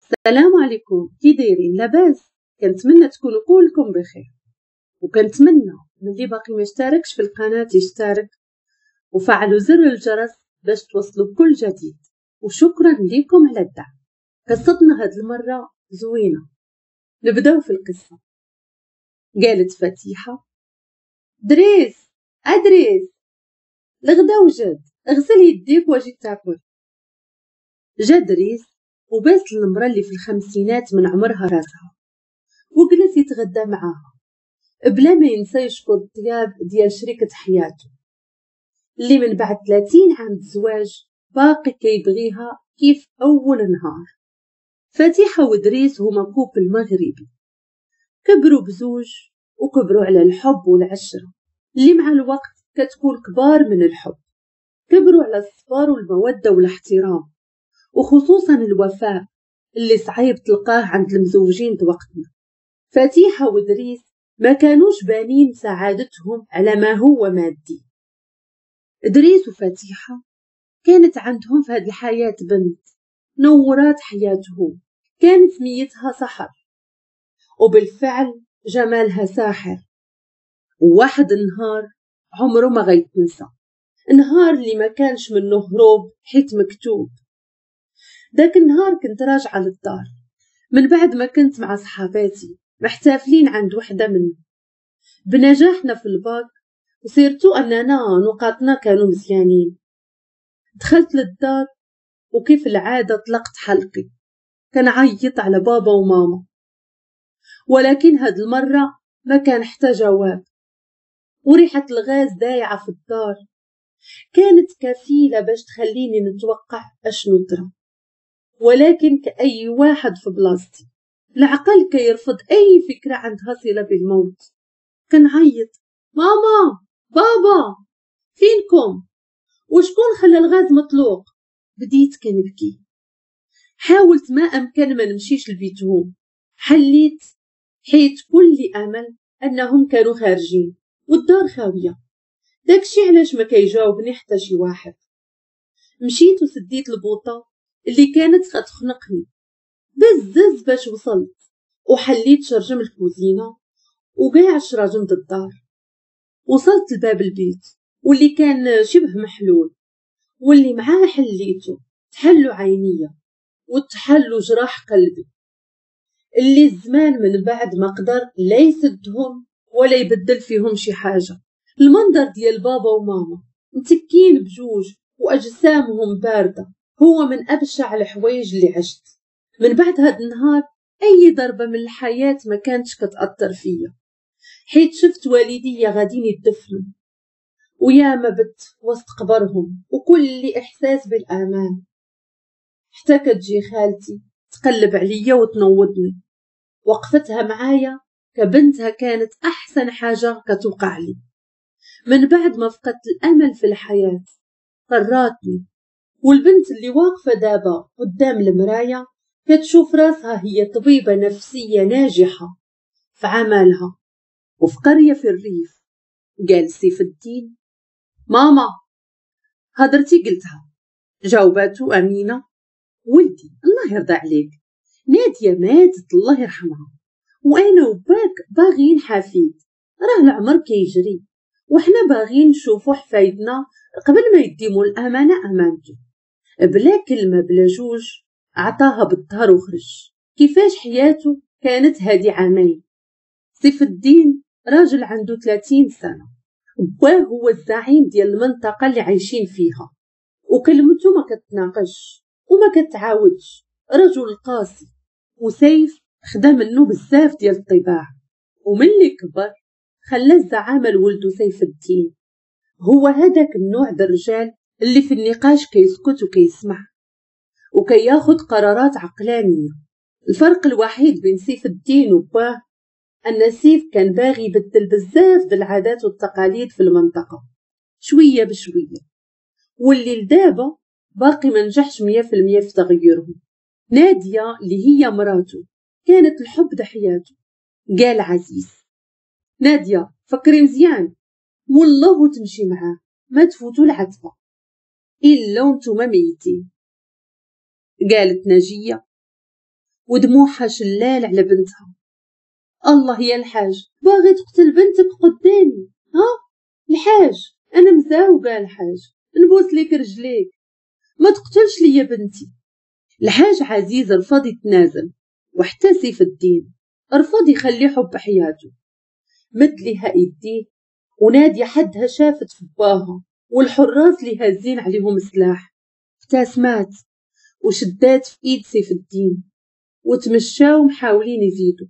السلام عليكم، كي دايرين؟ لاباس؟ كنتمنى تكونوا كلكم بخير، وكنتمنى من اللي باقي ما اشتركش في القناة يشترك وفعلوا زر الجرس باش توصلوا بكل جديد، وشكرا لكم على الدعم. قصتنا هاد المرة زوينة، نبداو في القصة. قالت فتيحة: دريس ادريس، الغدا وجد، اغسل يديك واجي تاكل. جا دريس وباس المرأة اللي في الخمسينات من عمرها راسها وجلس يتغدى معاها بلا ما ينسى يشكر الطياب ديال شريكة حياته اللي من بعد 30 عام زواج باقي كيبغيها كيف أول نهار. فتيحة ودريس هما couple مغربي، كبروا بزوج وكبروا على الحب والعشرة اللي مع الوقت كتكون كبار من الحب، كبروا على الصبر والمودة والاحترام، وخصوصا الوفاء اللي صعيب تلقاه عند المزوجين وقتنا. فتيحة ودريس ما كانوش بانين سعادتهم على ما هو مادي. دريس وفتيحة كانت عندهم في هذه الحياة بنت نورات حياتهم، كانت سميتها سحر، وبالفعل جمالها ساحر. وواحد النهار عمره ما غيتنسى، نهار اللي ما كانش منه هروب حيت مكتوب. داك النهار كنت راجعة للدار من بعد ما كنت مع صحاباتي محتفلين عند وحدة منهم بنجاحنا في الباك، و surtout أننا نقاطنا كانوا مزيانين. دخلت للدار وكيف العادة طلقت حلقي كنعيط على بابا وماما، ولكن هاد المرة ما كان حتى جواب، وريحة الغاز دايعة في الدار كانت كفيلة باش تخليني نتوقع أشنو طرا. ولكن كأي واحد في بلاصتي العقل كيرفض أي فكرة عندها صلة بالموت. كنعيط: ماما، بابا، فينكم؟ وشكون خلى الغاز مطلوق؟ بديت كنبكي. حاولت ما أمكن ما نمشيش لبيتهم، حليت حيت كل أمل أنهم كانوا خارجين والدار خاوية، داكشي علاش ما كيجاوبني حتى شي واحد. مشيت وسديت البوطة اللي كانت غتخنقني بزز باش وصلت، وحليت شرجم الكوزينة وكاع شراجم الدار. وصلت لباب البيت واللي كان شبه محلول، واللي معاه حليته تحلوا عينيا وتحلوا جراح قلبي اللي الزمان من بعد ما قدر لا يسدهم ولا يبدل فيهم شي حاجة. المنظر ديال بابا وماما متكين بجوج وأجسامهم باردة هو من أبشع الحوايج اللي عشت. من بعد هاد النهار أي ضربة من الحياة ما كانتش كتأثر فيا، حيت شفت والديا غاديين يدفنوا ويا ما بت وسط قبرهم وكل إحساس بالأمان، حتى كتجي خالتي تقلب عليا وتنوضني. وقفتها معايا كبنتها كانت أحسن حاجة كتوقع لي. من بعد ما فقدت الأمل في الحياة قراتني، والبنت اللي واقفة دابا قدام المراية كتشوف راسها هي طبيبة نفسية ناجحة في عملها وفي قرية في الريف. قال سيف الدين: ماما، هضرتي قلتها. جاوباتو أمينة: ولدي الله يرضى عليك، نادية ماتت الله يرحمها، وأنا وباك باغيين حفيد، راه العمر كيجري وحنا باغيين نشوفو حفايدنا قبل ما يديمو الأمانة أمانته. بلا كلمة بلا جوج عطاها بالظهر وخرج. كيفاش حياته كانت هادي عامين. سيف الدين راجل عنده 30 سنة، باه هو الزعيم ديال المنطقة اللي عايشين فيها، وكلمته ما كتناقش وما كتعاودش، رجل قاسي. وسيف خدا منه بزاف ديال الطباع، وملي كبر خلى الزعامة لولدو سيف الدين. هو هذاك النوع د الرجال اللي في النقاش كيسكت وكيسمع وكياخد قرارات عقلانية. الفرق الوحيد بين سيف الدين وباه أن سيف كان باغي يبدل بزاف د العادات والتقاليد في المنطقة شوية بشوية، واللي لدابا باقي ما نجحش 100% في تغييرهم. نادية اللي هي مراته كانت الحب د حياته. قال عزيز: نادية فكري مزيان، والله تمشي معاه ما تفوتوا العتبة إلا وانتوما ميتين. قالت ناجية: ودموعها شلال على بنتها. الله يا الحاج، باغي تقتل بنتك قدامي؟ ها الحاج، انا مزاوقه الحاج، نبوس ليك رجليك، ما تقتلش ليا بنتي. الحاج عزيز رفض يتنازل، وحتى سيف الدين رفض يخلي حب حياته. مد لها ايديه، ونادية حدها شافت في باها والحراس اللي هازين عليهم سلاح، ابتسمات وشدات في ايد سيف الدين وتمشاو محاولين يزيدوا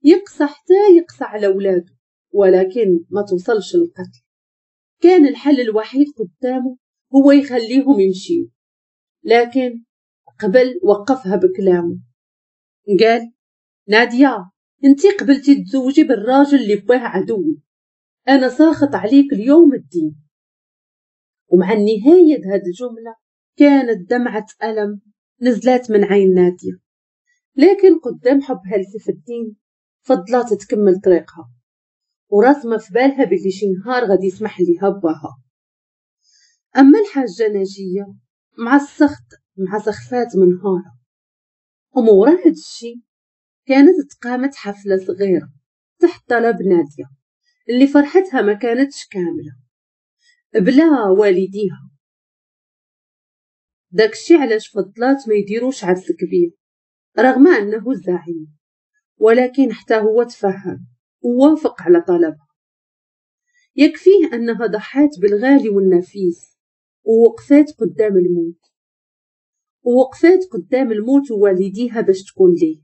يقصى حتى يقصى على ولاده، ولكن ما توصلش للقتل. كان الحل الوحيد قدامه هو يخليهم يمشيوا، لكن قبل وقفها بكلامه. قال: نادية، انتي قبلتي تزوجي بالراجل اللي باه عدوي، انا ساخط عليك اليوم الدين. ومع النهاية هذه الجملة كانت دمعة ألم نزلت من عين نادية، لكن قدام حبها لسيف الدين فضلات تكمل طريقها، وراسمة في بالها باللي شي نهار غادي يسمح ليها باها. أما الحاجة ناجية مع السخط مع سخفات منهارة. ومورا هاد الشي كانت تقامت حفلة صغيرة تحت طلب نادية اللي فرحتها ما كانتش كاملة بلا والديها. داكشي علاش فضلات ما يديروش عرس كبير رغم أنه الزعيم، ولكن حتى هو تفهم ووافق على طلبها. يكفيه أنها ضحات بالغالي والنفيس ووقفات قدام الموت، ووقفات قدام الموت ووالديها باش تكون ليه.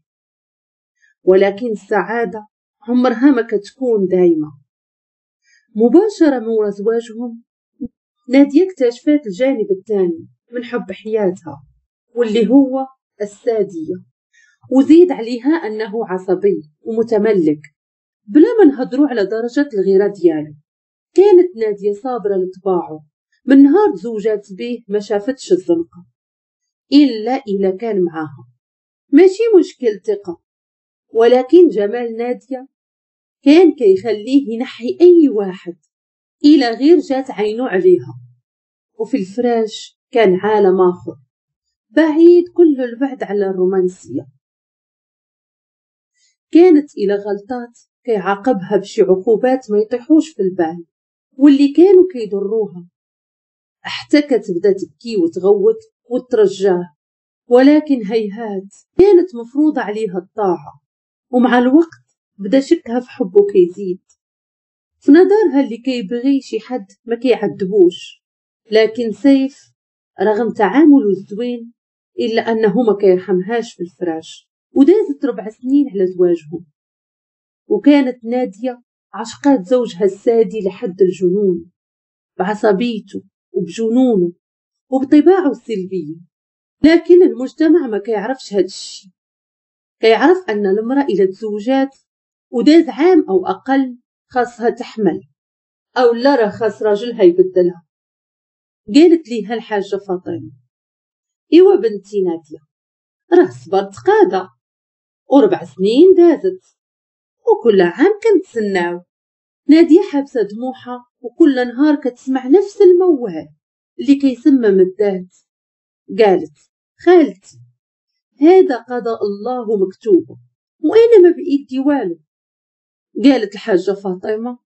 ولكن السعادة عمرها ما كتكون دايمة. مباشرة مورا زواجهم نادية اكتشفت الجانب الثاني من حب حياتها واللي هو السادية، وزيد عليها أنه عصبي ومتملك بلا ما نهضروا على درجة الغيرة ديالو. كانت نادية صابرة لطباعه، من نهار تزوجات به ما شافتش الزنقة إلا إلا كان معاها. ماشي مشكل ثقة، ولكن جمال نادية كان كيخليه ينحي أي واحد إلى غير جات عينو عليها. وفي الفراش كان عالم آخر بعيد كل البعد على الرومانسية. كانت إلى غلطات كيعاقبها بشي عقوبات ما يطيحوش في البال واللي كانوا كيضروها، حتى كتبدا تبكي وتغوت وترجاه، ولكن هيهات كانت مفروضة عليها الطاعة. ومع الوقت بدا شكها في حبه كيزيد، في نظرها اللي كيبغي شي حد ما كيعذبوش. لكن سيف رغم تعامله الزوين إلا أنه ما كيرحمهاش في الفراش. ودازت 4 سنين على زواجهم، وكانت نادية عشقات زوجها السادي لحد الجنون بعصبيته وبجنونه وبطباعه السلبية. لكن المجتمع ما كيعرفش هاد الشي، كيعرف أن المرأة إلى تزوجات وداز عام أو أقل خاصها تحمل، أو لا راه خاص راجلها يبدلها. قالت ليها الحاجة فاطمة: إيوا بنتي نادية، راه صبرت قادة و4 سنين دازت وكل عام كنتسناو. نادية حابسة دموعها وكل نهار كتسمع نفس الموال اللي كيسمم الذات. قالت: خالتي، هذا قضاء الله مكتوبه وأنا ما بإيدي والو. قالت الحاجة فاطمة: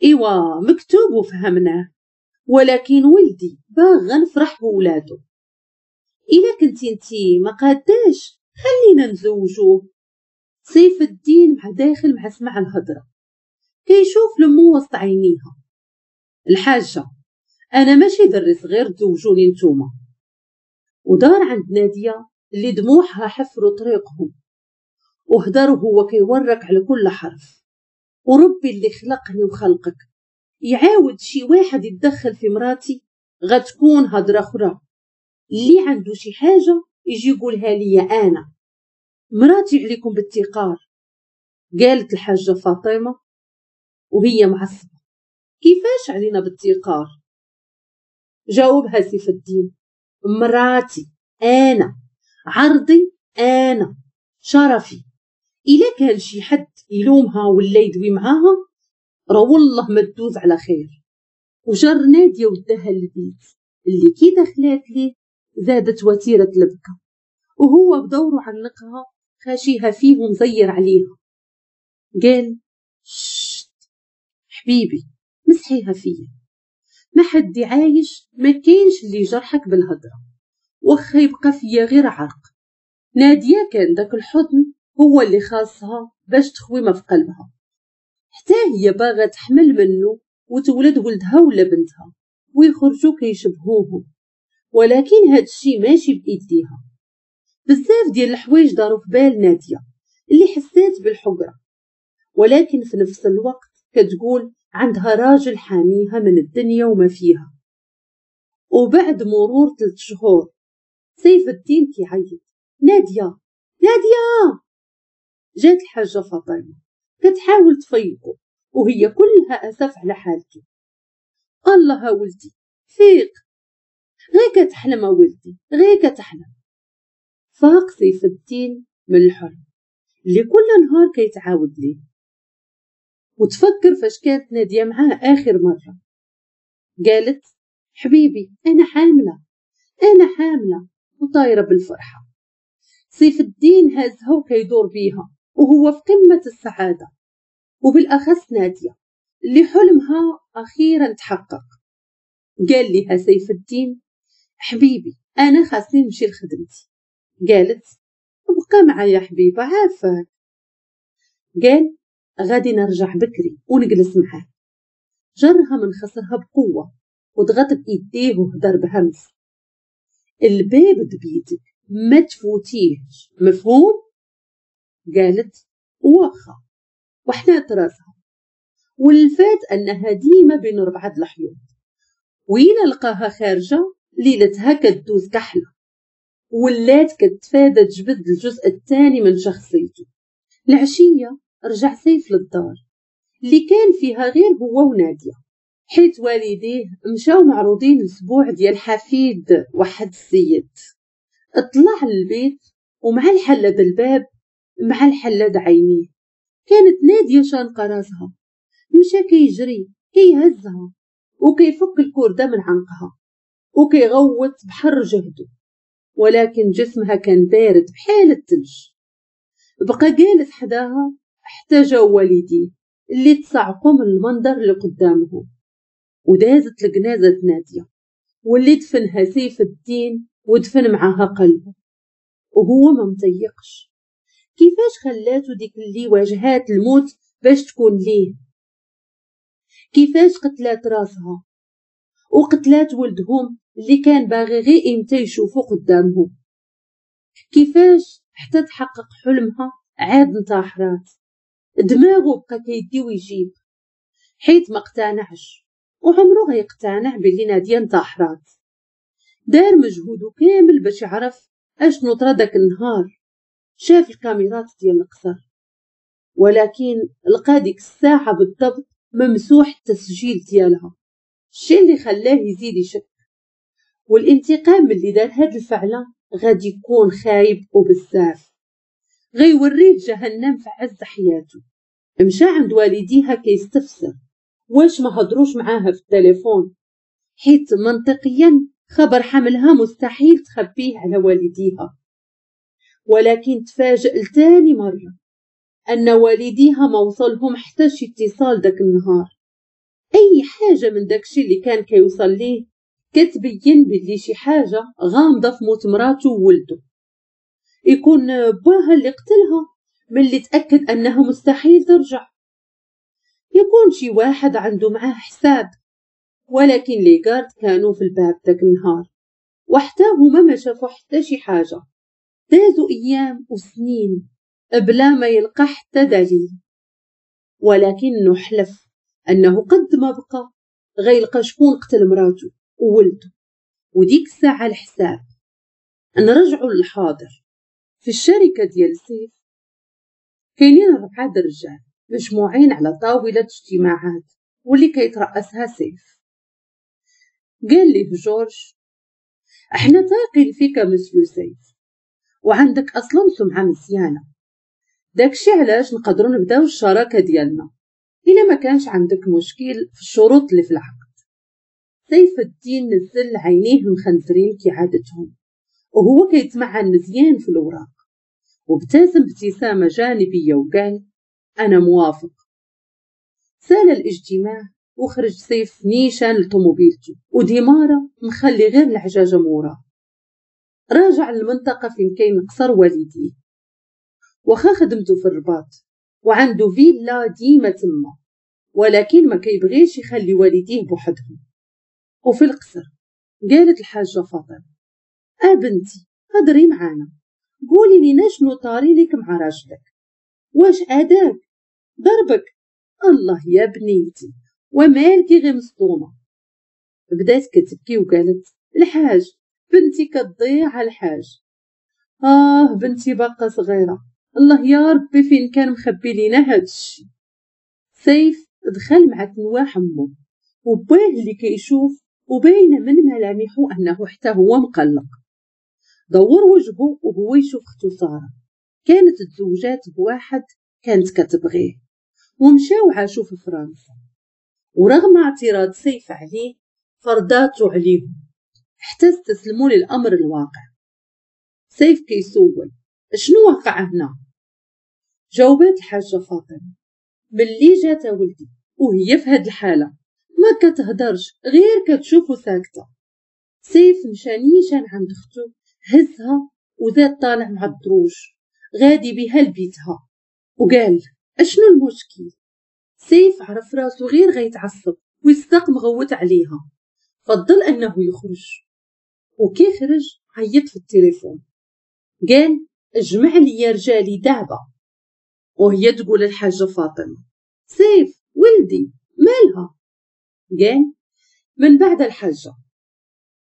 إيوا مكتوب وفهمناه، ولكن ولدي باغا نفرح بولادو. إلا كنتي انتي ما قاداش خلينا نزوجوه. سيف الدين مع داخل مع سمع الهضرة كيشوف لمو وسط عينيها. الحاجة: أنا ماشي دري صغير تزوجوني نتوما. ودار عند نادية اللي دموعها حفروا طريقهم، وهدر وهو كيورك على كل حرف: وربي اللي خلقني وخلقك يعاود شي واحد يتدخل في مراتي غتكون هضرة أخرى. اللي عنده شي حاجة يجي يقولها ليا أنا، مراتي عليكم بالتقار. قالت الحاجة فاطمة وهي معصبة: كيفاش علينا بالتقار؟ جاوبها سيف الدين: مراتي أنا، عرضي أنا، شرفي. إلا كان شي حد يلومها ولا يدوي معاها راه والله ما تدوز على خير. وجر نادية وداها للبيت اللي كي دخلات ليه زادت وتيرة البكا، وهو بدوره عنقها خاشيها فيه ومزير عليها. قال شت حبيبي مسحيها فيا، ما حد عايش، ما كاينش اللي جرحك بالهضره، واخا يبقى فيا غير عرق. ناديه كان داك الحضن هو اللي خاصها باش تخوي ما في قلبها، حتى هي باغا تحمل منه وتولد ولدها ولا بنتها ويخرجوا كيشبهوهم، ولكن هاد الشي ماشي بايديها. بزاف ديال الحوايج داروا في بال ناديه اللي حسات بالحقره، ولكن في نفس الوقت كتقول عندها راجل حاميها من الدنيا وما فيها. وبعد مرور 3 شهور سيف الدين كيعيط ناديه ناديه. جات الحاجة فاطمة كتحاول تفيقه وهي كلها اسف على حالته. الله ولدي فيق، غير كتحلم ولدي، غير كتحلم. فاق سيف الدين من الحلم اللي كل نهار كيتعاود ليه، وتفكر فاش كانت ناديه معاه اخر مرة. قالت حبيبي انا حامله، انا حامله، وطايره بالفرحه. سيف الدين هازها وكيدور بيها وهو في قمة السعادة، وبالاخص ناديه اللي حلمها اخيرا تحقق. قال لها سيف الدين حبيبي انا خاصني نمشي لخدمتي. قالت بقى معايا حبيبه عافاك. قال غادي نرجع بكري ونجلس معاه. جرها من خصرها بقوة وضغط بايديه وهدر بهمس الباب دبيتك ما تفوتيهش، مفهوم؟ قالت واخا، وحنات راسها. والفات انها ديما بين 4 الحيوط، وإلا لقاها خارجه ليلتها كدوز كحلة، ولات كتفادى تجبد الجزء الثاني من شخصيته. العشية رجع سيف للدار اللي كان فيها غير هو وناديه، حيت والديه مشاو معروضين الاسبوع ديال حفيد واحد السيد. طلع للبيت ومع الحلة الباب مع الحلة عينيه كانت ناديه شانقه راسها. مشى كيجري كيهزها وكيفك الكرده من عنقها وكيغوت بحر جهده، ولكن جسمها كان بارد بحال الثلج. بقى جالس حداها حتى جاو والديه اللي تصعقوا من المنظر اللي قدامهم، ودازت لجنازة نادية واللي دفنها سيف الدين ودفن معاها قلبه، وهو ما مطيقش كيفاش خلاتو ديك اللي واجهات الموت باش تكون ليه، كيفاش قتلات راسها وقتلات ولدهم اللي كان باغي غير امتى يشوفو قدامهم، كيفاش حتى تحقق حلمها عاد انتحرات. دماغه بقى كيدي ويجيب حيت ما اقتنعش، وعمره غيقتنع باللي ناديه انتحرات. دار مجهوده كامل باش يعرف اشنو طرا داك النهار. شاف الكاميرات ديال القصر، ولكن لقى ديك الساعة بالضبط ممسوح التسجيل ديالها، الشيء اللي خلاه يزيد يشك. والانتقام اللي دار هاد الفعلة غادي يكون خايب وبزاف، غيوريه جهنم في عز حياته. مشى عند والديها كيستفسر واش ما هضروش معاها في التليفون، حيت منطقيا خبر حملها مستحيل تخبيه على والديها. ولكن تفاجئ لتاني مرة أن والديها ما وصلهم حتى شي اتصال داك النهار. أي حاجة من داكشي اللي كان كيوصل ليه كتبين بلي شي حاجة غامضة في موت مراته وولده، يكون باها اللي قتلها ملي تأكد أنها مستحيل ترجع، يكون شي واحد عنده معاه حساب. ولكن les gardes كانوا في الباب داك النهار وحتى هما ما شافوا حتى شي حاجة. دازوا أيام وسنين بلا ما يلقى حتى دليل، ولكنه حلف أنه قد ما بقى غيلقى شكون قتل مراته وولده، وديك الساعة الحساب. نرجعوا للحاضر. في الشركة ديال سيف كاينين 4 رجال مجموعين على طاولة اجتماعات واللي كيترأسها سيف. قال ليه جورج احنا تايقين فيك مسيو سيف، وعندك اصلا سمعة مزيانة، داكشي علاش نقدروا نبداو الشراكة ديالنا الا ما كانش عندك مشكل في الشروط اللي في العقد. سيف الدين نزل عينيه المخنزرين كعادتهم وهو كيتمعن مزيان في الأوراق، وابتسم ابتسامة جانبية وقال أنا موافق. سال الاجتماع وخرج سيف نيشان لطوموبيلته وديمارة مخلي غير العجاجة موراه. راجع للمنطقة فين كاين قصر والديه، واخا خدمته في الرباط وعنده فيلا ديما تما، ولكن ما كيبغيش يخلي والديه بوحدهم. وفي القصر قالت الحاجة فاطمة بنتي هضري معانا، قولي لنا شنو طاري لك مع راجلك، واش اداك ضربك؟ الله يا بنيتي ومالكي غير مصدومة. بدات كتبكي وقالت الحاج بنتي كتضيع على الحاج، بنتي باقا صغيرة، الله يا ربي فين كان مخبي لينا هاد الشي. سيف دخل مع تنواح امه وباه اللي كيشوف وباينه من ملامحه انه حتى هو مقلق. دور وجهه وهو يشوف اختو ساره كانت تزوجات بواحد كانت كتبغيه، ومشاو عاشوا في فرنسا، ورغم اعتراض سيف عليه فرضاتو عليهم حتى استسلموا للامر الواقع. سيف كيسول شنو وقع هنا؟ جاوبات الحاجة فاطمة ملي جات ولدي وهي في هاد الحالة ما كتهدرش غير كتشوف وساكته. سيف مشى نيشان عند اختو، هزها وزاد طالع مع الدروج غادي بها لبيتها وقال اشنو المشكل؟ سيف عرف راسو غير غيتعصب ويصدق مغوت عليها، فضل انه يخرج. وكي خرج عيط في التليفون قال اجمع لي رجالي دابا. وهي تقول الحاجة فاطمة سيف ولدي مالها؟ قال من بعد الحاجة.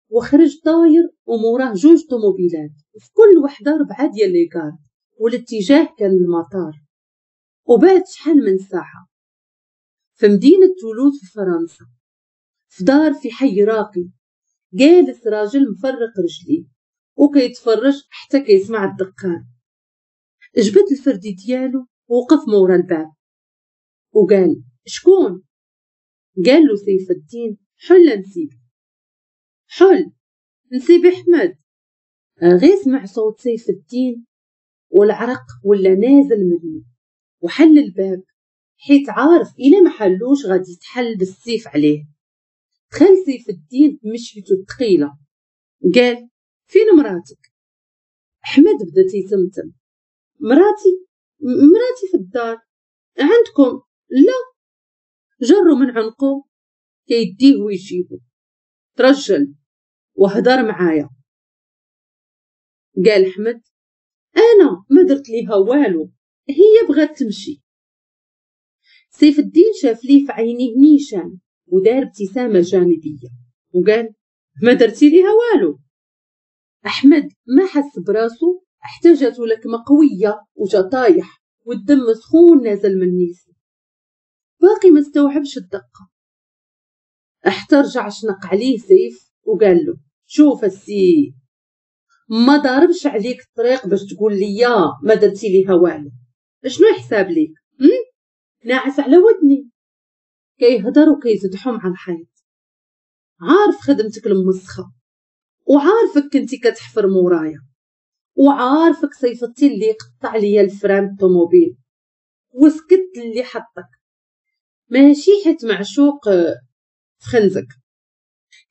وخرج طاير وموراه جوج طوموبيلات في كل وحده 4 ديال les gardes، والاتجاه كان المطار. وبعد شحال من ساعة في مدينة تولوز في فرنسا، في دار في حي راقي، جالس راجل مفرق رجليه وكيتفرج حتى كيسمع الدقان. جبد الفردي ديالو ووقف مورا الباب وقال شكون؟ قال له سيف الدين حل نسيبي، حل نسيبي احمد. غير سمع صوت سيف الدين والعرق ولا نازل منه، وحل الباب حيت عارف إلا ما حلوش غادي يتحل بالسيف عليه. دخل سيف الدين بمشيته الثقيلة قال فين مراتك؟ احمد بدا تيتمتم مراتي مراتي في الدار عندكم؟ لا. جرو من عنقه كيديه ويجيبو، ترجل وهدر معايا. قال احمد انا ما درت ليها والو، هي بغات تمشي. سيف الدين شاف ليه في عينيه نيشان ودار ابتسامة جانبيه وقال ما درتي ليها والو. احمد ما حس براسو حتى جاتو لكمه قوية وجا طايح والدم سخون نازل من نيفو، باقي ما استوعبش الدقة. حتى رجع شنق عليه سيف وقال له شوف السي ما ضاربش عليك الطريق باش تقول لي ما درتي ليها والو، شنو حساب ليك؟ ناعس على ودني. كيهضر وكيزدحو مع الحيط، عارف خدمتك المسخه، وعارفك كنتي كتحفر مورايا، وعارفك صيفطتي اللي قطع ليا ال frein الطوموبيل وسكت اللي حطك، ماشي حيت معشوق في خنزك،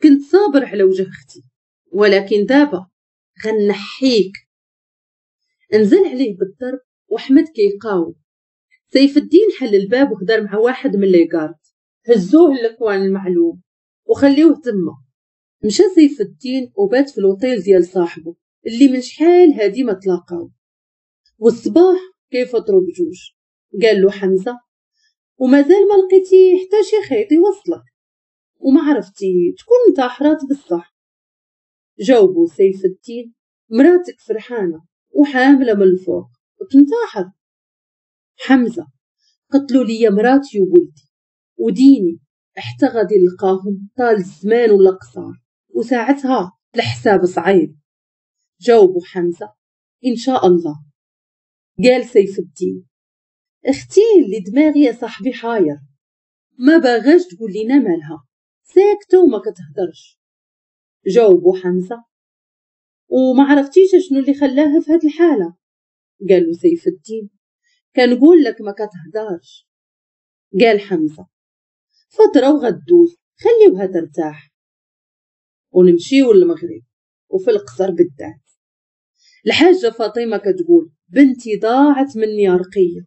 كنت صابر على وجه اختي، ولكن دابا غنحيك. انزل عليه بالضرب وحمد كيقاوم. سيف الدين حل الباب وهدر مع واحد من les gardes، هزوه لل coin المعلوم وخليوه تما. مشى سيف الدين وبات في الوطيل ديال صاحبه اللي من شحال هادي ما تلاقاو. والصباح كيفطروا بجوج. قال له حمزة ومازال ما لقيتي حتى شي خيط يوصلك وما عرفتي تكون انتحرات بصح. جاوبوا سيف الدين مراتك فرحانة وحامله من الفوق وتنتحر. حمزة قتلوا لي مراتي وولدي وديني حتى غادي نلقاهم طال الزمان ولا قصار، وساعتها الحساب صعيب. جاوبوا حمزة إن شاء الله. قال سيف الدين اختي اللي دماغي يا صاحبي حاير، ما باغاش تقول لينا مالها، ساكته وما كتهدرش. جاوبوا حمزة وما عرفتيش شنو اللي خلاها في هاد الحالة؟ قالوا سيف الدين كنقول لك ما كتهدرش. قال حمزة فترة وغدوز، خليوها ترتاح ونمشيو للمغرب وفي القصر بالذات. الحاجة فاطمة كتقول بنتي ضاعت مني رقية،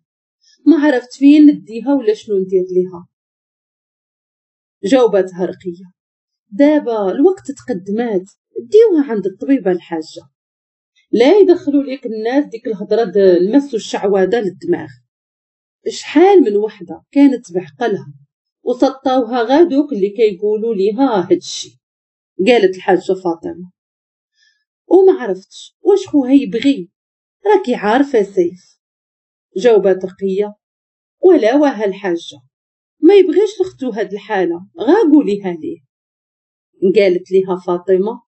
ما عرفت فين نديها ولا شنو ندير ليها. جاوبتها رقية دابا الوقت تقدمات، ديوها عند الطبيبة الحاجة، لا يدخلوا ليك الناس ديك الهضرة المس والشعوذة للدماغ. شحال من وحدة كانت بعقلها وسطاوها غادوك اللي كيقولوا ليها هادشي. قالت الحاجة فاطمة وما عرفتش واش خوها يبغي، راكي عارفة سيف. جاوبات رقية ولا واها الحاجة ما يبغيش لختو هاد الحالة، غا قوليها ليه. قالت ليها فاطمة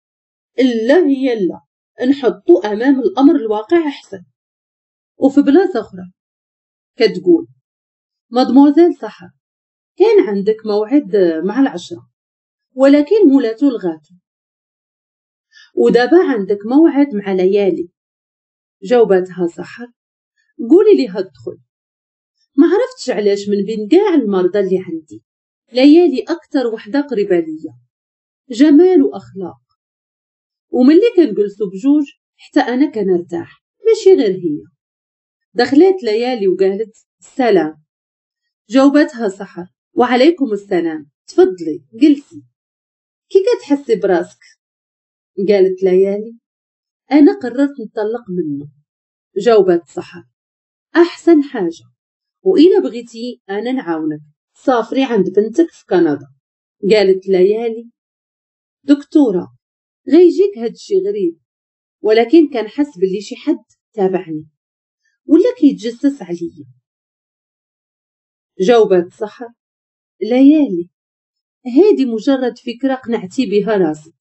لا هي لا، نحطو أمام الأمر الواقع أحسن. وفي بلاصة أخرى كتقول مادموزيل سحر كان عندك موعد مع 10 ولكن مولاتو لغاتو، ودابا عندك موعد مع ليالي. جاوبتها سحر قولي ليها تدخل، ما عرفتش علاش من بين كاع المرضى اللي عندي ليالي أكتر وحدة قريبة ليا، جمال وأخلاق، وملي كنجلسو بجوج حتى أنا كنرتاح ماشي غير هي. دخلت ليالي وقالت السلام. جاوبتها سحر وعليكم السلام، تفضلي جلسي، كي كتحسي براسك؟ قالت ليالي أنا قررت نطلق منه. جاوبت سحر أحسن حاجة، وإلا بغيتي أنا نعاونك، سافري عند بنتك في كندا. قالت ليالي دكتورة غيجيك هادشي غريب، ولكن كنحس باللي شي حد تابعني ولا كيتجسس عليا. جاوبت سحر ليالي هادي مجرد فكرة قنعتي بها راسك،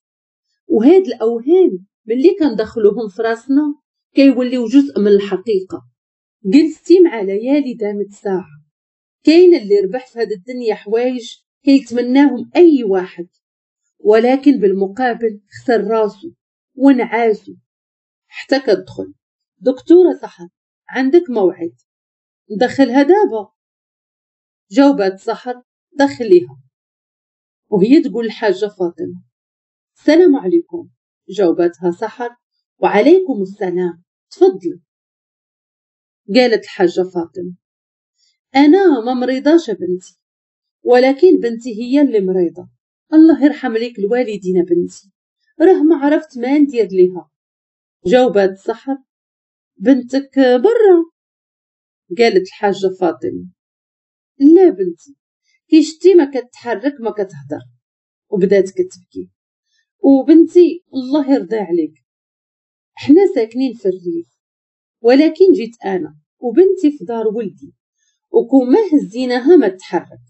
وهاد الأوهام ملي كندخلوهم في راسنا كيوليو جزء من الحقيقة. جلستي مع ليالي دامت ساعة، كاين اللي ربح في هاد الدنيا حوايج كيتمناهم أي واحد، ولكن بالمقابل خسر راسو ونعاسو. حتى كتدخل دكتورة سحر عندك موعد، ندخلها دابا؟ جاوبت سحر دخليها. وهي تقول الحاجة فاطمة السلام عليكم. جاوبتها سحر وعليكم السلام، تفضلي. قالت الحاجة فاطمة أنا ما مريضاش بنتي، ولكن بنتي هي اللي مريضة، الله يرحم ليك الوالدين بنتي، راه ما عرفت ما ندير ليها. جاوبت سحر بنتك برا. قالت الحاجة فاطمة لا بنتي كي شتي ما كتحرك ما كتهدر، وبدات كتبكي. وبنتي الله يرضي عليك، حنا ساكنين في الريف، ولكن جيت انا وبنتي في دار ولدي، وكون ما هزيناها ما تحرك،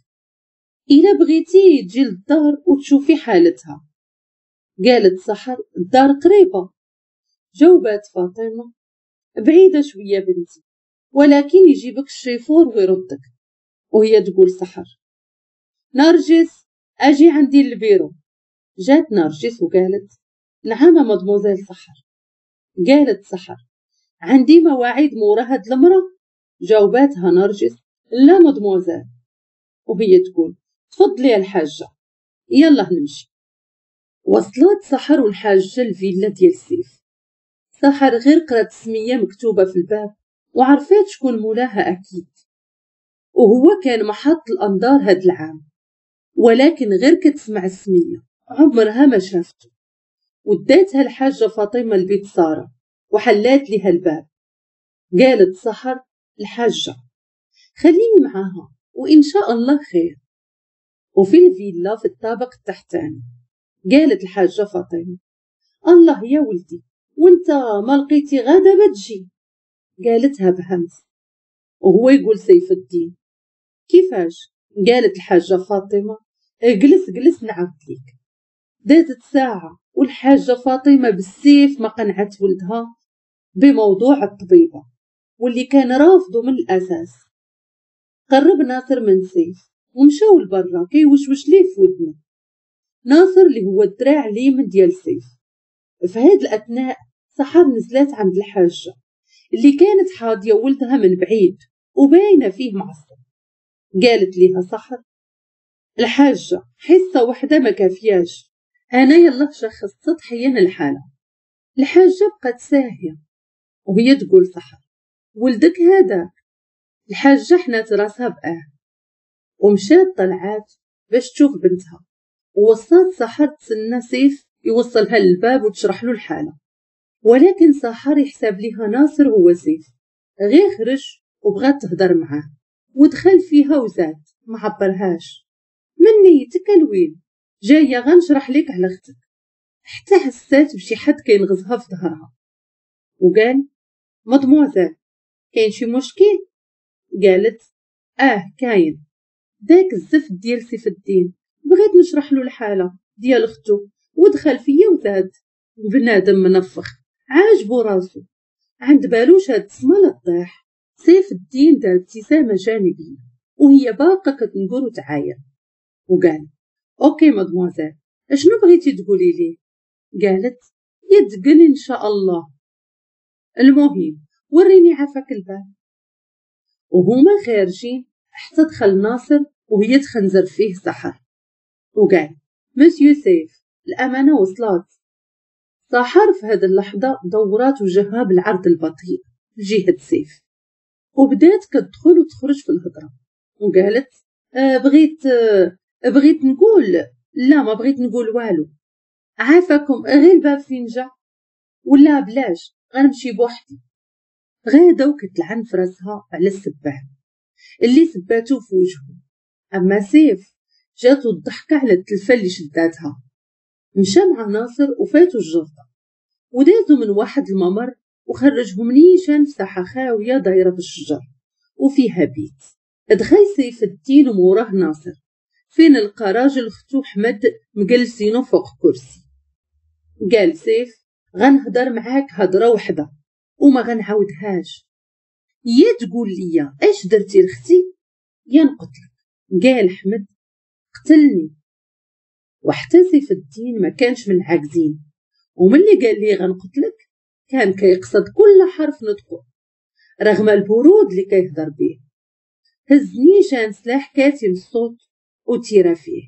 الا بغيتي تجي للدار وتشوفي حالتها. قالت سحر الدار قريبه. جاوبات فاطمه بعيده شويه بنتي، ولكن يجيبك الشيفور ويردك. وهي تقول سحر نرجس اجي عندي البيرو. جات نرجس وقالت نعم مادموزيل سحر. قالت سحر عندي مواعيد مورا هاد المرة. جاوباتها نرجس لا مادموزيل. وهي تقول تفضلي يا الحاجة يلا نمشي. وصلت سحر والحاجة الفيلا ديال سيف. سحر غير قرات السمية مكتوبة في الباب وعرفات شكون مولاها أكيد، وهو كان محط الأنظار هاد العام، ولكن غير كتسمع السمية عمرها ما شافته. وداتها الحاجة فاطمة لبيت سارة وحلات لها الباب. قالت سحر الحاجة خليني معاها وإن شاء الله خير. وفي الفيلا في الطابق التحتاني قالت الحاجة فاطمة الله يا ولدي وانت ما لقيتي غدا ما تجي. قالتها بهمس. وهو يقول سيف الدين كيفاش؟ قالت الحاجة فاطمة اجلس جلس نعاود ليك. دازت ساعة والحاجة فاطمة بالسيف ما قنعت ولدها بموضوع الطبيبة واللي كان رافضه من الأساس. قرب ناصر من سيف ومشاو لبرا كيوشوش ليه في ودنه. ناصر اللي هو الدراع اليمين ديال سيف. في هاد الأثناء سحر نزلات عند الحاجة اللي كانت حاضية ولدها من بعيد وباينة فيه معصب. قالت ليها سحر: الحاجة حصة وحدة ما كافياش، أنا يلا شخصت سطحيا الحالة. الحاجة بقت ساهية وهي تقول سحر: ولدك هذاك؟ الحاجة حنات راسها بآه ومشات طلعات باش تشوف بنتها، ووصات سحر تسنى سيف يوصلها للباب وتشرح له الحالة. ولكن سحر يحسب ليها ناصر هو سيف، غير خرج وبغات تهضر معاه ودخل فيها وزاد ما عبرهاش. من نيتك الويل، جاية غنشرح لك على اختك. حتى حسات بشي حد كينغزها في ظهرها وقال: مدموزيل كاين شي مشكل؟ قالت: كاين، داك الزفت ديال سيف الدين بغيت نشرح له الحالة ديال اختو ودخل فيا وزاد. بنادم منفخ عاجبو راسو، عند بالو شاد السما لا طيح. سيف الدين دار ابتسامة جانبيه وهي باقه كتنقر وتعاير وقال: OK mademoiselle، اشنو بغيتي تقولي ليه؟ قالت: يتقل ان شاء الله. المهم وريني عافاك الباب. وهما خارجين حتى دخل ناصر وهي تخنزر فيه سحر وقال: مسيو سيف الأمانة وصلات. سحر في هذه اللحظة دورات وجهها بالعرض البطيء لجهة سيف وبدات كتدخل وتخرج في الهضرة وقالت: بغيت نقول، لا ما بغيت نقول والو، عافاكم غير الباب فين جا، ولا بلاش غنمشي بوحدي. غاده وكتلعن في راسها على السبان اللي سباتو في وجهه. اما سيف جاتو الضحكة على التلفه اللي شداتها. مشى مع ناصر وفاتو الجرده ودازو من واحد الممر وخرجهم نيشان في ساحة خاوية دايرة بالشجر وفيها بيت. دخل سيف الدين وموراه ناصر، فين لقى راجل اختو حمد مجلسينو فوق كرسي. قال سيف: غنهضر معاك هضره وحده وما غنعاودهاش، يا تقول لي اش درتي لختي يا نقتلك. قال حمد: قتلني. وحتى سيف الدين ما كانش من العاجزين، وملي قال لي غنقتلك كان كيقصد كل حرف نطقه رغم البرود اللي كيهضر به. هز نيشان سلاح كاتم الصوت وتيرا فيه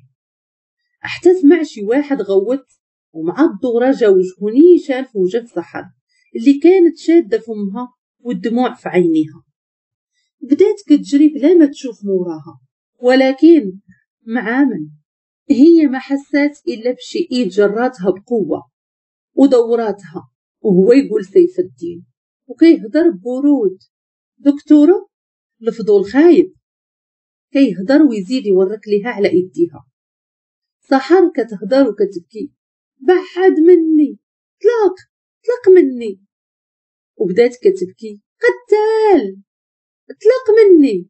حتى سمع شي واحد غوت، ومع الدورة جا وجهو نيشان في وجه سحر اللي كانت شادة فمها والدموع في عينيها. بدات كتجري بلا ما تشوف موراها، ولكن مع من هي ما حسات إلا بشي إيد جراتها بقوة ودوراتها، وهو يقول سيف الدين وكيهضر ببرود: دكتورة الفضول خايب. كيهضر ويزيد يورك ليها على ايديها. سحر كتهضر وكتبكي: بعد مني، طلق طلق مني. وبدات كتبكي: قتال، طلق مني.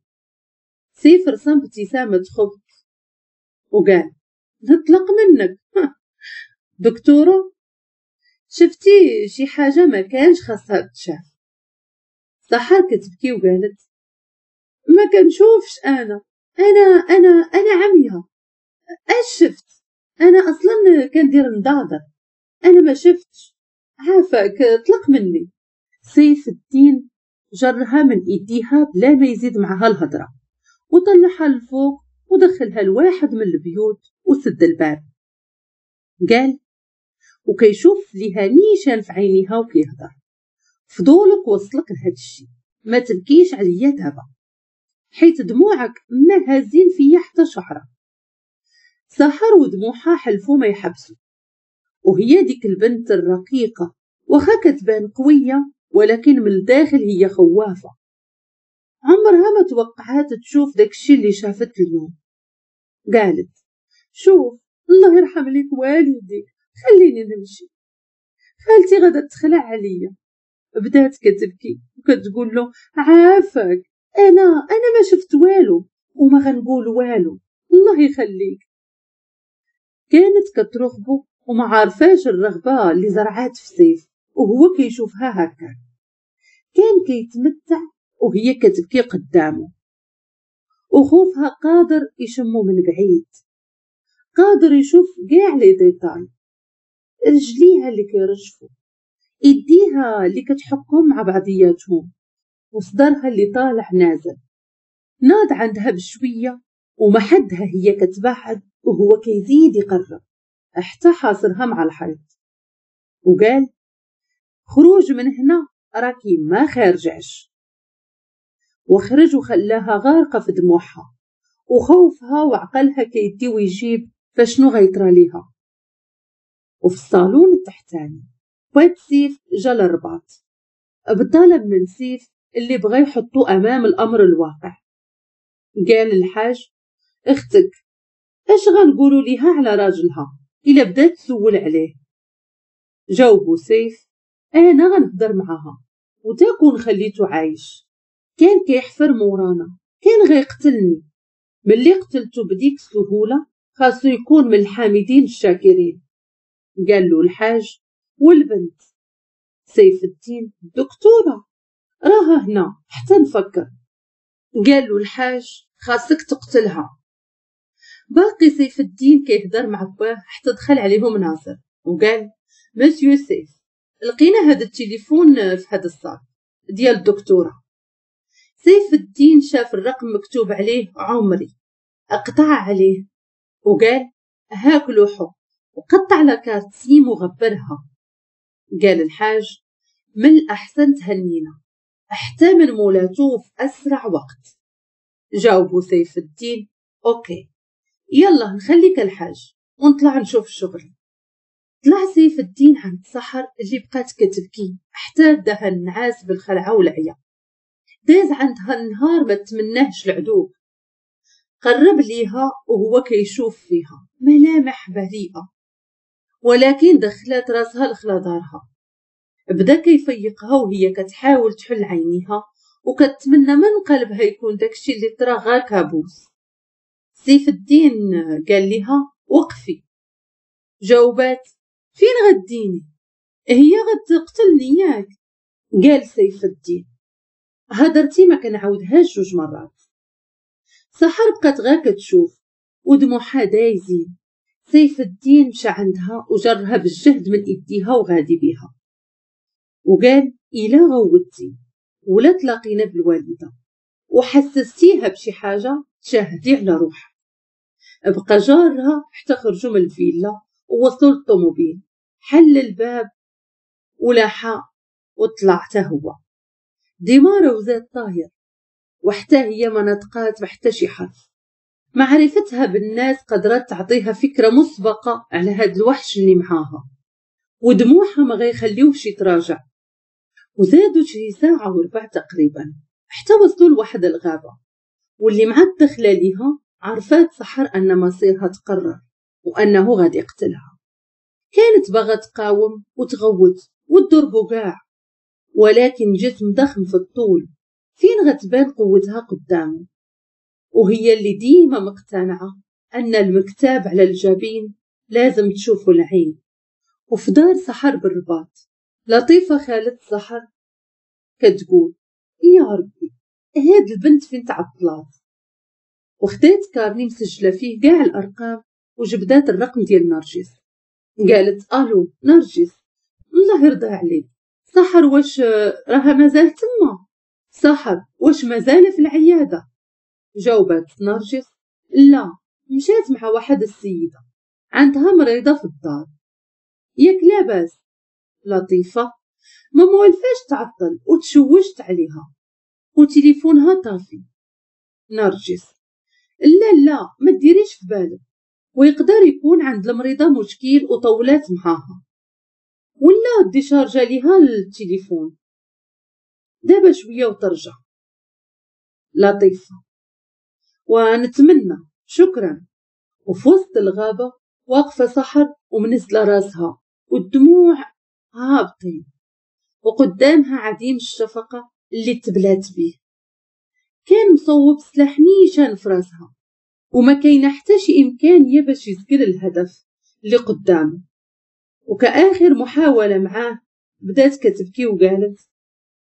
سيف رسم ابتسامة خبث وقال: نطلق منك دكتورة، شفتي شي حاجة ما كانش خاصها تشاف. سحر كتبكي وقالت: ما كنشوفش انا انا انا انا عمية، اش شفت؟ انا اصلا كندير نضاضر، انا ما شفتش، عافاك طلق مني. سيف الدين جرها من ايديها بلا ما يزيد معها الهضرة وطلعها للفوق ودخلها لواحد من البيوت وسد الباب. قال وكيشوف ليها نيشان في عينيها وكيهضر: فضولك وصلك لهاد الشي، ما تبكيش عليا دابا حيت دموعك ما هازين فيا حتى شعره. سحر ودموعها حلفو ما يحبسوا، وهي ديك البنت الرقيقة واخا كتبان قوية ولكن من الداخل هي خوافة، عمرها ما توقعات تشوف داكشي اللي شافت اليوم. قالت: شوف الله يرحم ليك والديك، خليني نمشي، خالتي غادا تخلع عليا. بدات كتبكي وكتقول له: عافاك انا ما شفت والو وما غنقول والو، الله يخليك. كانت كترغبو وما عارفاش الرغبة اللي زرعات في سيف وهو كيشوفها هكا. كان كيتمتع وهي كتبكي قدامه، وخوفها قادر يشمو من بعيد، قادر يشوف كاع les détails، رجليها اللي كيرجفو، ايديها اللي كتحكهم مع بعضياتهم وصدرها اللي طالع نازل. ناض عندها بشوية وما حدها هي كتبعد وهو كيزيد يقرب حتى حاصرها مع الحيط وقال خروج من هنا راكي ما خارجعش. وخرج وخلاها غارقة في دموعها وخوفها وعقلها كيدي ويجيب فشنو غيطرى ليها. وفي الصالون التحتاني بات سيف جا للرباط بطلب من سيف اللي بغى يحطو امام الامر الواقع. قال الحاج اختك اش غنقولوا ليها على راجلها الا بدات تسول عليه؟ جاوبو سيف انا غنهضر معاها وتكون خليته عايش، كان كيحفر مورانا، كان غيقتلني، ملي قتلته بديك السهولة خاصو يكون من الحامدين الشاكرين. قال له الحاج والبنت؟ سيف الدين الدكتورة راها هنا حتى نفكر. قال له الحاج خاصك تقتلها. باقي سيف الدين كيهضر مع باه حتى دخل عليهم ناصر وقال مسيو سيف لقينا هذا التليفون في هذا ال sac ديال الدكتورة. سيف الدين شاف الرقم مكتوب عليه عمري، اقطع عليه وقال هاك لوحو وقطع la carte SIM وغبرها. قال الحاج من الأحسن تهنينا حتى من مولاتو في أسرع وقت. جاوبو سيف الدين OK يلا نخليك الحاج ونطلع نشوف الشغل. طلع سيف الدين عند سحر اللي بقات كتبكي حتى داها النعاس بالخلعة والعيا. داز عندها النهار ما تمناهش العدو. قرب ليها وهو كيشوف فيها ملامح بريئة، ولكن دخلت راسها لخلا دارها. بدا كيفيقها وهي كتحاول تحل عينيها وكتمنى من قلبها يكون داكشي اللي طرا غير كابوس. سيف الدين قال لها وقفي. جاوبات فين غديني؟ هي غتقتلني ياك. قال سيف الدين هدرتي ما كنعاودهاش جوج مرات. سحر بقات غير كتشوف ودموعها دايزين. سيف الدين مشى عندها وجرها بالجهد من ايديها وغادي بيها وقال الا غوتي ولا تلاقينا بالوالده وحسستيها بشي حاجة تشاهدي على روحك. بقى جارها حتى خرجوا من الفيلا ووصلوا للطوموبيل. حل الباب ولاحها وطلع حتى هو ديمارة وزاد طاير، وحتى هي ما نطقات بحتى شي حرف. معرفتها بالناس قدرت تعطيها فكرة مسبقة على هاد الوحش اللي معاها، ودموعها ما غيخليوش يتراجع. وزادوا شي ساعة وربع تقريبا حتى وصلوا لواحد الغابة، واللي مع الدخلة ليها عرفات سحر أن مصيرها تقرر وأنه غادي يقتلها. كانت باغا تقاوم وتغوت وتضربو كاع، ولكن جسم ضخم في الطول فين غتبان قوتها قدامه؟ وهي اللي ديما مقتنعة أن المكتاب على الجبين لازم تشوفه العين. وفي دار سحر بالرباط لطيفة خالد سحر كتقول يا ربي هاد البنت فين تعطلات. وخدات carnet مسجلة فيه كاع الأرقام وجبدات الرقم ديال نرجس. قالت ألو نرجس الله يرضى عليك، سحر واش راها مازال تما؟ سحر واش مازال في العيادة؟ جاوبت نرجس لا مشات مع واحد السيدة عندها مريضة في الدار. ياك لاباس؟ لطيفة ما مولفاش تعطل وتشوشت عليها وتليفونها طافي. نرجس لا لا ما ديريش في بالك، ويقدر يكون عند المريضة مشكل وطولات معاها ولا déchargea ليها التليفون، دابا شوية وترجع. لطيفة ونتمنى شكرا. وفي وسط الغابة واقفة سحر ومنزلة راسها والدموع هابطين، وقدامها عديم الشفقة اللي تبلات بيه. كان مصوب سلاح نيشان في راسها وما كاينه حتى شي امكانية باش يسكر الهدف اللي قدامه. وكآخر محاولة معاه بدات كتبكي وقالت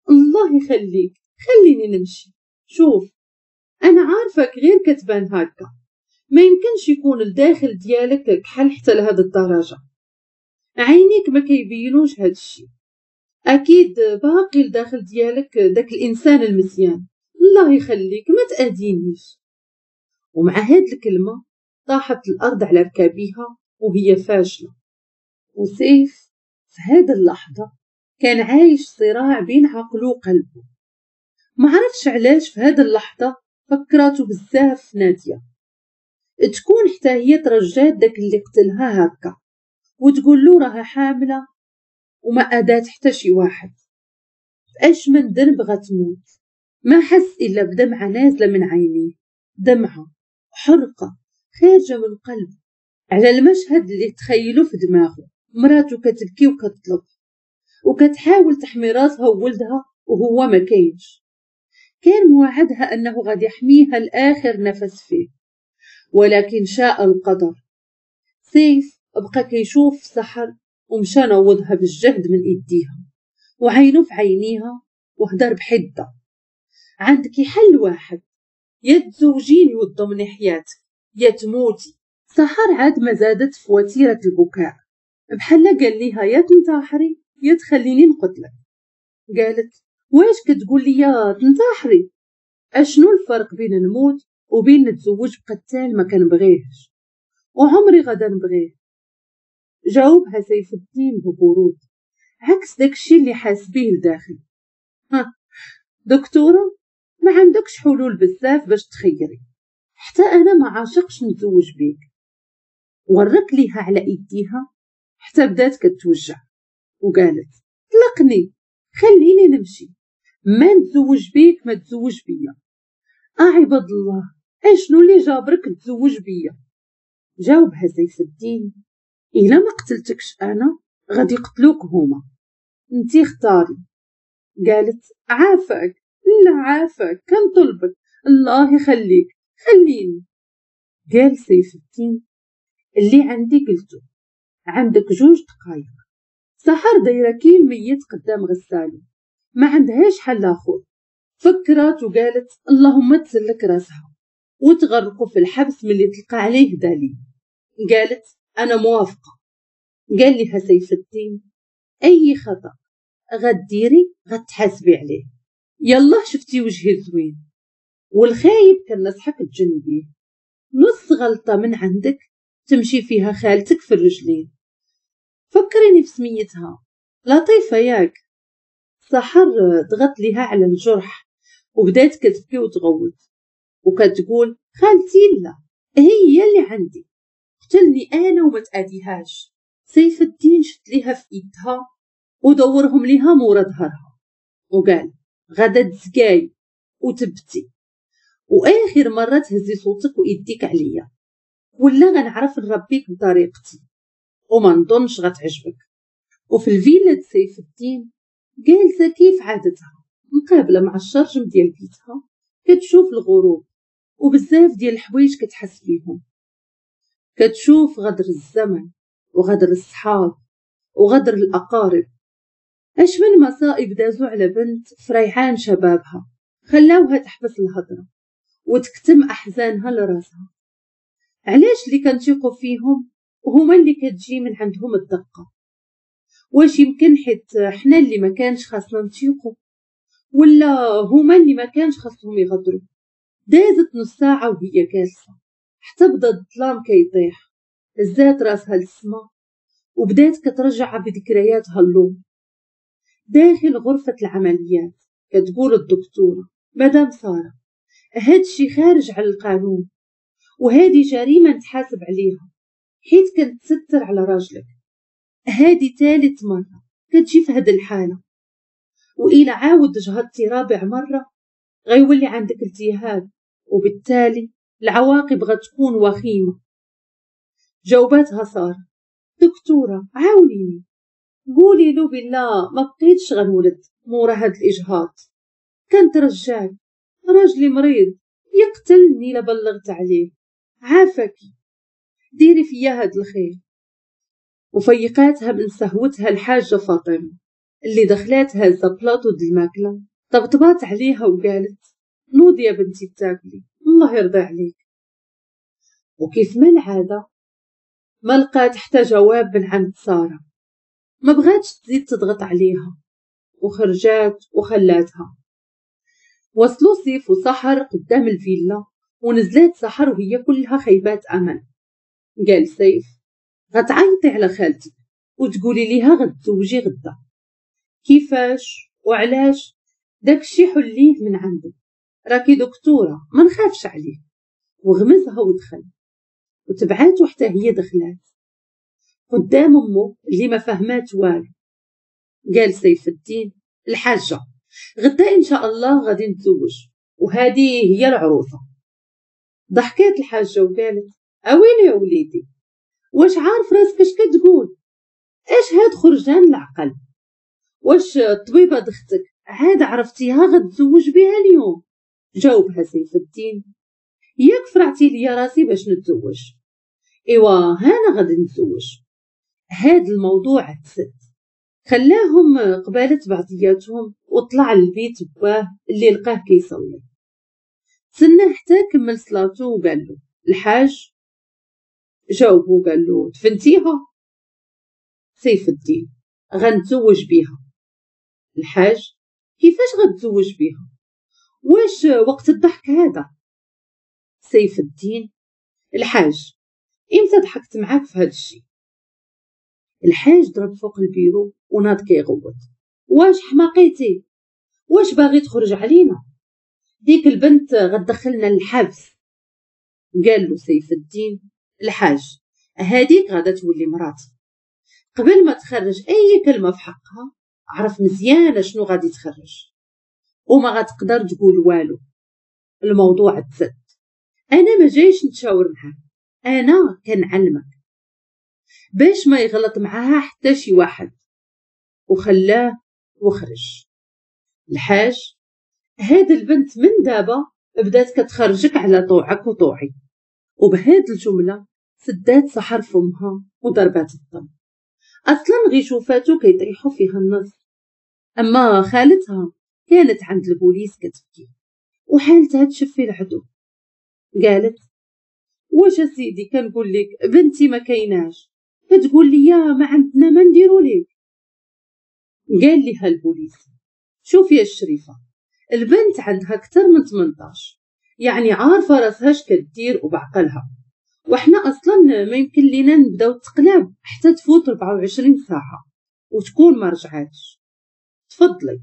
الله يخليك خليني نمشي، شوف انا عارفك غير كتبان هكا، ما يمكنش يكون الداخل ديالك كحل حتى لهاد الدرجة، عينيك ما كيبينوش هاد الشيء. اكيد باقي لداخل ديالك داك الانسان المزيان، الله يخليك ما تاذينيش. ومع هاد الكلمة طاحت الارض على ركابيها وهي فاشلة. وسيف في هاد اللحظة كان عايش صراع بين عقله وقلبه، ما عرفش علاش في هاد اللحظة فكراتو بزاف ناديه تكون حتى هي ترجات داك اللي قتلها هكا وتقول له راها حامله وما ادات حتى شي واحد، اش من ذنب غتموت؟ ما حس الا بدمعه نازله من عينيه، دمعه حرقه خارجه من قلبه على المشهد اللي تخيلو في دماغه. مراته كتبكي وكتطلب وكتحاول تحمي راسها وولدها وهو ما كاينش. كان موعدها انه غادي يحميها لاخر نفس فيه، ولكن شاء القدر. سيف بقى كيشوف سحر ومشى نوضها بالجهد من ايديها وعينه في عينيها وهدر بحده: عندك حل واحد، يا تزوجيني وتضمني حياتك يا تموتي. سحر عاد ما زادت في وتيرة البكاء، بحال قال ليها يا تنتحري يا تخليني نقتلك. قالت: واش كتقول لي يا تنتحري؟ اشنو الفرق بين نموت وبين نتزوج بقتال ما كنبغيهش وعمري غدا نبغيه؟ جاوبها سيف الدين ببرود عكس داكشي اللي حاس بيه لداخل: ها دكتورة، ما عندكش حلول بزاف باش تخيري، حتى انا ما عاشقش نتزوج بيك. ورك ليها على ايديها حتى بدات كتوجع وقالت: طلقني خليني نمشي، ما نتزوج بيك ما تزوج بيا. عباد الله، اشنو اللي جابرك تزوج بيا؟ جاوبها سيف الدين: الا ما قتلتكش انا غادي يقتلوك هما، انتي اختاري. قالت: عافاك، لا عافاك، كنطلبك الله يخليك خليني. قال سيف الدين: اللي عندي قلته، عندك 2 دقايق. سحر دايرة كي الميت قدام غسالة، ما عندهاش حل اخر. فكرات وقالت: اللهم تسلك راسها وتغرقوا في الحبس ملي تلقى عليه دليل. قالت: انا موافقة. قال لها سيف الدين: اي خطا غديري غتحاسبي عليه، يلا شفتي وجهي زوين والخايب كنصحك تجنبيه، نص غلطه من عندك تمشي فيها خالتك في الرجلين. فكريني في سميتها لطيفة ياك. سحر ضغط ليها على الجرح وبدات كتبكي وتغوت وكتقول: خالتي لا، هي اللي عندي، قتلني انا وما تاديهاش. سيف الدين شد ليها في ايدها ودورهم ليها مورا ظهرها وقال: غدا تزكاي وتبتي، واخر مرة تهزي صوتك وايديك عليا، ولا غنعرف نربيك بطريقتي وما نظنش غتعجبك. وفي الفيلا سيف الدين جالسة كيف عادتها مقابله مع الشرجم ديال بيتها، كتشوف الغروب وبزاف ديال الحوايج كتحس بيهم. كتشوف غدر الزمن وغدر الصحاب وغدر الاقارب، اش من مصائب دازو على بنت فريحان شبابها خلاوها تحبس الهضرة وتكتم احزانها لراسها. علاش اللي كنتيقوا فيهم وهما اللي كتجي من عندهم الدقة؟ واش يمكن حيت حنا اللي ما كانش خاصنا نتيقوا، ولا هما اللي ما كانش خاصهم يغدروا؟ دازت نص ساعة وهي جالسة حتى بدا الظلام كيطيح. هزات راسها للسما وبدات كترجع بذكرياتها اللوم. داخل غرفة العمليات كتقول الدكتورة: مدام ساره، هادشي خارج على القانون وهذه جريمة نتحاسب عليها حيت كنتستر على راجلك. هادي ثالث مرة كتجي في هاد الحالة، وإلا عاود جهضتي رابع مرة غيولي عندك التهاب وبالتالي العواقب غتكون وخيمة. جاوباتها سارة: دكتورة عاونيني، قولي له بالله ما بقيتش غنولد مورا هاد الإجهاض، كنترجاك، راجلي مريض يقتلني لا بلغت عليه، عافاكي ديري فيا هاد الخير. وفيقاتها من سهوتها الحاجة فاطمة اللي دخلات هازة بلاطو د الماكلة، طبطبات عليها وقالت: نوضي يا بنتي تاكلي الله يرضى عليك. وكيف ما العادة ما لقات حتى جواب من عند سارة، ما بغاتش تزيد تضغط عليها. وخرجات وخلاتها. وصلوا سيف وسحر قدام الفيلا، ونزلات سحر وهي كلها خيبات امل. قال سيف: غتعيطي على خالتك وتقولي ليها غتزوجي غدا. كيفاش وعلاش؟ داكشي حليه من عندك، راكي دكتورة ما نخافش عليه. وغمزها ودخل، وتبعاتو حتى هي دخلات قدام امه اللي ما فهمات والو. قال سيف الدين: الحاجة غدا ان شاء الله غادي نتزوج، وهذه هي العروسة. ضحكات الحاجة وقالت: اويلي يا وليدي، واش عارف راسك اش كتقول؟ اش هاد خرجان العقل؟ واش الطبيبة دختك عاد عرفتيها غتزوج بها اليوم؟ جاوبها سيف الدين: ياك فرعتي ليا راسي باش نتزوج، ايوا هانا غادي نتزوج. هاد الموضوع تسد. خلاهم قبالة بعضياتهم وطلع للبيت باه اللي لقاه كيصلي. تسنى حتى كمل صلاته وقال له: الحاج. جاوبو قال له: دفنتيها؟ سيف الدين: غنتزوج بيها. الحاج: كيفاش غتزوج بيها؟ واش وقت الضحك هذا؟ سيف الدين: الحاج امتى ضحكت معاك في هذا الشيء؟ الحاج ضرب فوق البيرو وناض كيغوت: واش حماقيتي؟ واش باغي تخرج علينا؟ ديك البنت غتدخلنا للحبس. قال له سيف الدين: الحاج هاديك غادا تولي مراتي، قبل ما تخرج اي كلمة في حقها عرف مزيان شنو غادي تخرج، وما غتقدر تقول والو. الموضوع تسد، انا ما جايش نتشاور معاك، انا كنعلمك باش ما يغلط معاها حتى شي واحد. وخلاه وخرج. الحاج: هاد البنت من دابا بدات كتخرجك على طوعك وطوعي. وبهاد الجملة سدات سحر فمها وضربات الطم. اصلا غي شوفاتو كيطيحو فيها النص. اما خالتها كانت عند البوليس كتبكي وحالتها تشفي العدو. قالت: واش سيدي كنقول لك بنتي ما كايناش، كتقول لي ما عندنا ما نديرو لك. قال لها البوليس: شوفي يا الشريفة، البنت عندها اكثر من 18، يعني عارفه راسها اش كدير وبعقلها، وحنا اصلا ما يمكن لينا نبداو التقلاب حتى تفوت 24 ساعة وتكون ما رجعاتش. تفضلي.